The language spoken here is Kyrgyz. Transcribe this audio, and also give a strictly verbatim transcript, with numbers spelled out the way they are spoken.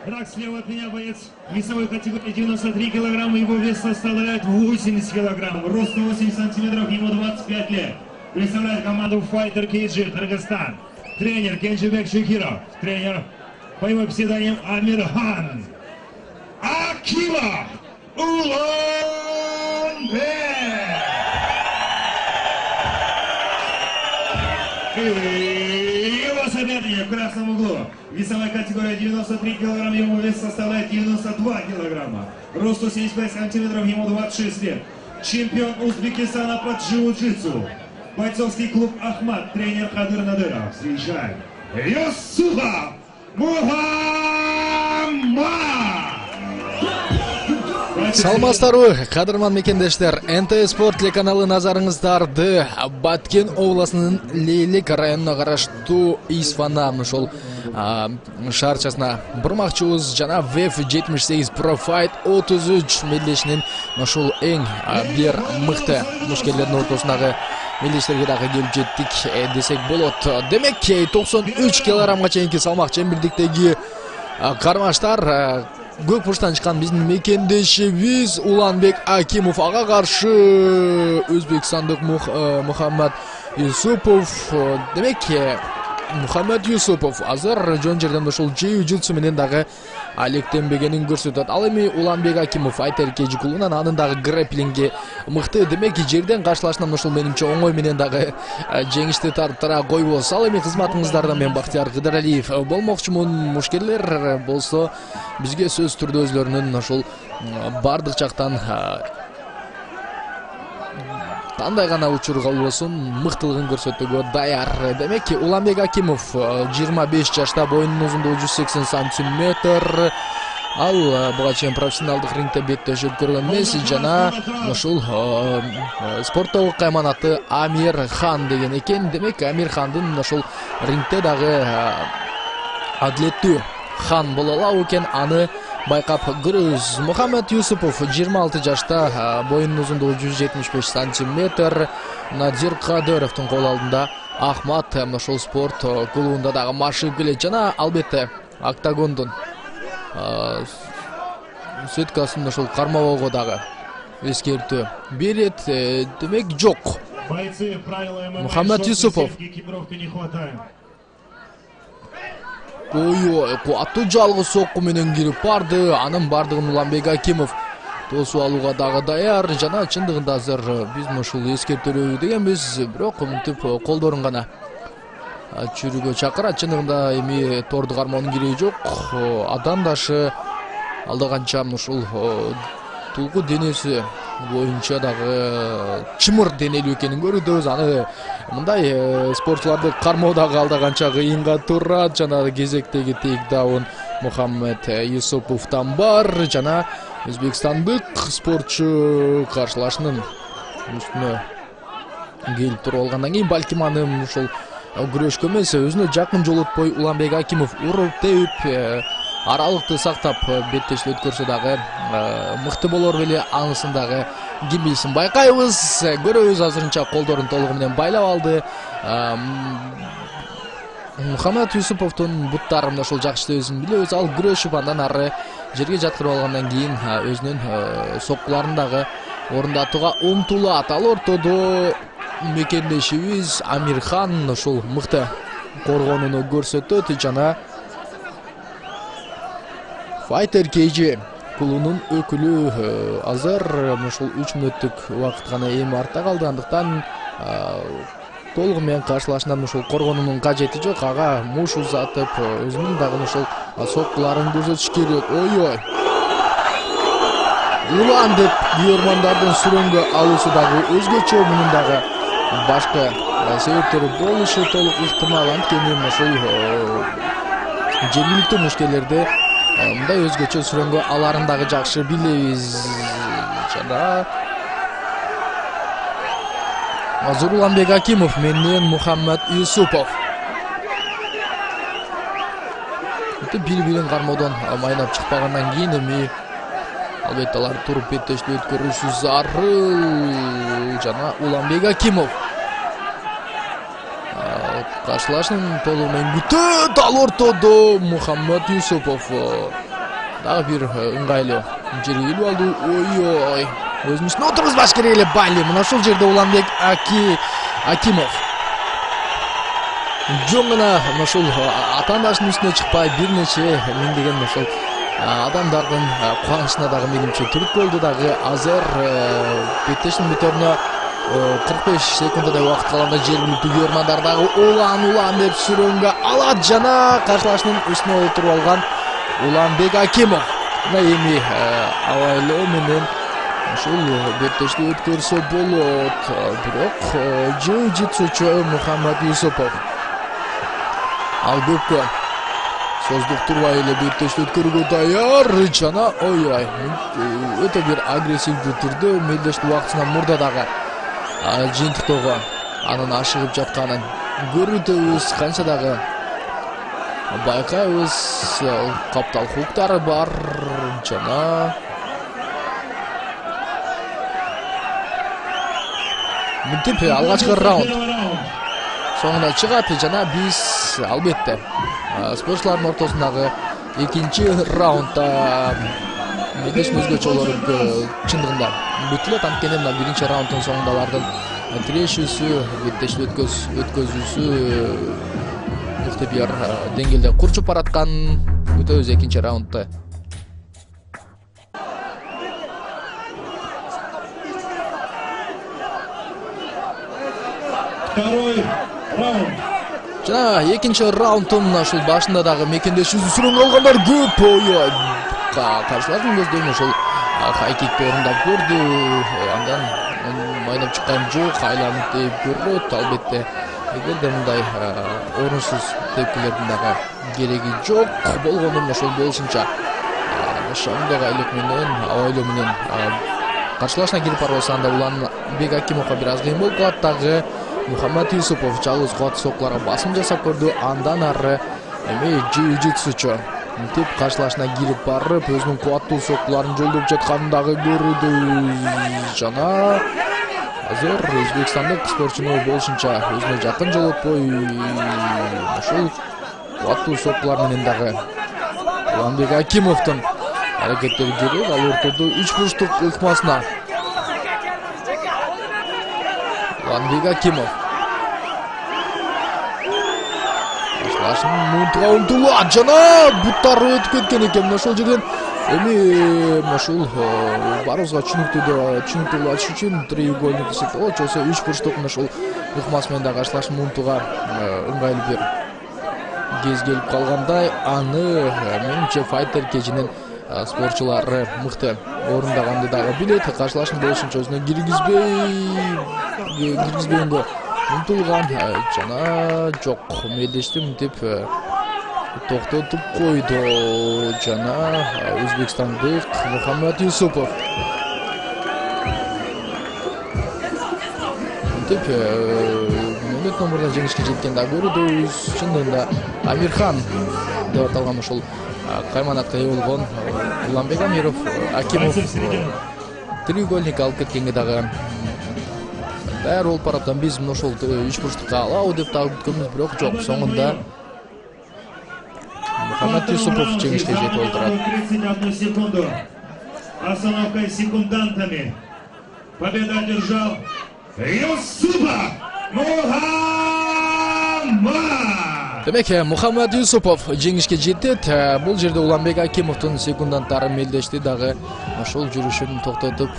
Итак, слева от меня боец весовой категории девяносто три килограмма, его вес составляет восемьдесят килограмм, рост сто восемьдесят сантиметров, ему двадцать пять лет. Представляет команду Fighter кей джи, Кыргызстан. Тренер Кенжебек Шукиров, тренер по его псевдониму Амирхан Акимов Уланбек. И его соперник в красном углу. Весовая категория девяносто три килограмма, ему вес составляет девяносто два килограмма. Рост сто семьдесят пять сантиметров, ему двадцать шесть лет. Чемпион Узбекистана по джиу-джитсу. Бойцовский клуб Ахмат, тренер Кадыр Надыров. Встречаем Юсупов Мухаммад. Саламатсыздарбы, кадырман мекендештер. эн тэ спорт телеканалы назарыңыздарды Баткен областынын Лейлик районуна караштуу Исфана ошол шаарчасына бурмакчыбыз. Жана веф жетимиш сегиз Pro Fight отуз үч мелдешинин ошол эң бир мыкты мушкерлердин ортосундагы мелдештерге дагы келип жеттик десек болот. Демек токсон үч килограммга чейинки салмак чембирдиктеги кармаштар көк бурчтан чыккан биздин мекендешибиз Уланбек Акимов ага каршы өзбекстандык Мухаммад Юсупов. Демек Мухаммад Юсупов азыр жон жерден ошол джиу-джитсу менен дагы алектенбегенин көрсөтөт. Ал эми Уланбек Акимов Fighter кей джи клубунан анын дагы грэпплингге мыкты. Демек жерден каршылашынан ошол менимче оңой менен дагы жеңишти тарттыра койбос. Ал эми кызматыңыздарда мен Бактияр Кыдыралиев болмокчумун. Мушкерлер болсо бизге сөз түрдө өзлөрүнүн ошол бардык жактан кандай гана учур болбосун мыктылыгын көрсөтүүгө даяр. Демек Уланбек Акимов жыйырма беш жашта, боюнун узундугу жүз сексен сантиметр. Ал буга чейин профессионалдык рингде беттешип көргөн эмес жана ушул спорттогу кайманаты Амирхан деген экен. Демек Амирхандын ошол рингде дагы адилеттүү хан боло алабы экен, аны байкап көрөбүз. Мухаммад Юсупов жыйырма алты жашта, боюнун узундугу жүз жетимиш беш сантиметр. Надир Кадыровдун кол алдында Ахмат ошол спорт клубунда дагы машыгып келет жана албетте октагондун сеткасын ошол кармабоого дагы эскертүү берет. Демек жок. Мухаммад Юсупов Ой-ой, куаттуу жалгыз сокку менен кирип барды. Анын бардыгын Уланбек Акимов тосуп алууга дагы даяр. Жана чындыгында азыр биз ушул эскертүүрү дегенбиз, бирок мынтип колдорун гана чүрүүгө чакырат. Чындыгында эми торду кармоонун кереги жок. Адамдашы алда канча ушул тулку денеси боюнча дагы чымыр денелүү экенин көрүбүз. Аны мындай спортчуларды кармоо дагы алда канча кыйынга турат. Жана кезектеги тейк даун Мухаммад Юсуповдон бар. Жана өзбекстандык спортчу каршылашынын үстүнө келип туруп алгандан кийин балким аны ушул күрөшкө эмес, өзүнө жакын жолотпой Уланбек Акимов уруп теуп аралыкты сактап беттешил өткөрсө дагы мыкты болор беле, анысын дагы ким билсин. Байкайбыз, көрөбүз. Азырынча колдорун толугу менен байлап алды. Мухаммад Юсуповдун буттарын ошол жакшы өзүн билебиз. Ал күрөшүп андан ары жерге жаткырып алгандан кийин өзүнүн соккуларын дагы орундатууга умтулат. Ал ортодо мекендешибиз Амирхан ошол мыкты коргонууну көрсөтөт жана Fighter кей джи клубунун өкүлү азыр ушул үч мүнөттүк убакыт гана эми артта калды. Андыктан толугу менен каршылашынан ушул коргонуунун кажети жок. Ага муш узатып өзүнүн дагы ушул соккуларын көрсөтүш керек. Ой-ой. Улан деп биормандардын сүрөнгө алуусу дагы өзгөчө. Мунун дагы башка себептери болушу толук ыктымал. Анткени ушул жергиликтүү мушкерлерде мындай өзгөчө сүрөнгө аларын дагы жакшы билебиз. Жана азыр Уланбек Акимов менен Мухаммад Юсупов бири-бирин кармоодон майнап чыкпагандан кийин эми албетте алар туруп беттешил өткөрүшү зарыл. Жана Уланбек Акимов каршылашын толугу менен күтөт. Ал ортодо Мухаммад Юсупов Дагы бир ыңгайлуу жерге илип алды. Ой-ой. Өзүнүн үстүнө отургузбаш керек эле Бали. Мына ушул жерде Уланбек Аки Акимов жөн гана ошол атаандашынын үстүнө чыкпай бир нече миңдеген ошол адамдардын кубанычына дагы менимче түрткү болду. Дагы азыр беттештин бүтөрүнө кырк беш секунддай убакыт калганда жергиликтүү көрмандар дагы улан улан деп сүрөнгө алат жана каршылашынын үстүнө отуруп алган Уланбек Акимов мына эми абайлоо менен ушул беттешти өткөрсө болот. Бирок жиу-джитсучу Мухаммад Юсупов ал көпкө создук турбай эле беттешти өткөрүүгө даяр жана ой-ой өтө бир агрессивдүү түрдө мелдешти убактысынан мурда дагы жыйынтыктоого анын ашыгып жатканын көрүтөбүз. Канча дагы байкайбыз, каптал хуктары бар жана мынтип алгачкы раунд соңуна чыгат жана биз албетте спортчулардын ортосундагы экинчи раундда мелдештин өзгөчөлөрү чындыгында бүтүп элет. Анткени мына биринчи раунддун соңунда алардын тирешүүсү, беттешти өткөзүүсү мыкты бир деңгээлде курчуп бараткан күтөбүз экинчи раундда. Второй раунд. Жана экинчи раунддун ушул башында дагы мекендешүүсү сүрөнгө алгандар көп. Ой-ой. Каршылардын көздөрүн ошол хайкикти орундап көрдү. Андан майнап чыккан жок, айланып деп көрөт. Албетте эгерде мындай орунсуз тепкилердин дагы кереги жок болгондун ошол болушунча шоңдогу айлык менен абайлоо менен каршылашына кирип барбаса анда Уланбек Акимовго бир аз кыйын болуп калат. Дагы Мухаммад Юсупов жалгыз кубаттуу соккуларга басым жасап көрдү. Андан ары эми жиу-джитсучу мынтип каршылашына кирип барып өзүнүн кубаттуу соккуларын жолдоп жатканын дагы көрдүбүз. Жана азыр өзбекстандык спортчуну болушунча өзүнө жакын жолотпой ошол кубаттуу соккулар менен дагы Уланбек Акимовдун аракеттери керек. Ал ортодо үч бурчтук ыкмасына Уланбек Акимов башлашын мунтуга умтулат жана буттары өтүп кеткен экен. Ошол жерден эми ошол барыбызга түшүнүктүү түшүнүктүү болуш үчүн треугольник болот, болсо үч бурчтук ошол ыкмасы менен дагы башлашын мунтуга ыңгайлуу бир кез келип калгандай. Аны менимче файтер кечинин спортчулары мыкты орундаганды дагы билет. Каршылашын болушунча өзүнө киргизбей киргизбегенге умтулган жана жок мелдешти мынтип токтотуп койду жана өзбекстандык Мухаммад Юсупов мынтип мүнөт номурда жеңишке жеткен да көрүбүз. Чындыгында Амирхан деп аталган ошол кайманатка ээ болгон Уланбек Амиров Акимов треугольник алып кеткенге дагы даяр болуп бараптан биз мына ошол үч бурчтукка алабы деп дагы күткөнбүз, бирок жок. Соңунда Мухаммад Юсупов жеңишке жетип олтурат. тридцать одну секунду. Остановка секундантами. Победа одержал Юсупов Мухаммад. Демек Мухаммад Юсупов жеңишке жетет. Бул жерде Уланбек Акимовдун секунданттары мелдешти дагы ошол жүрүшүн токтотуп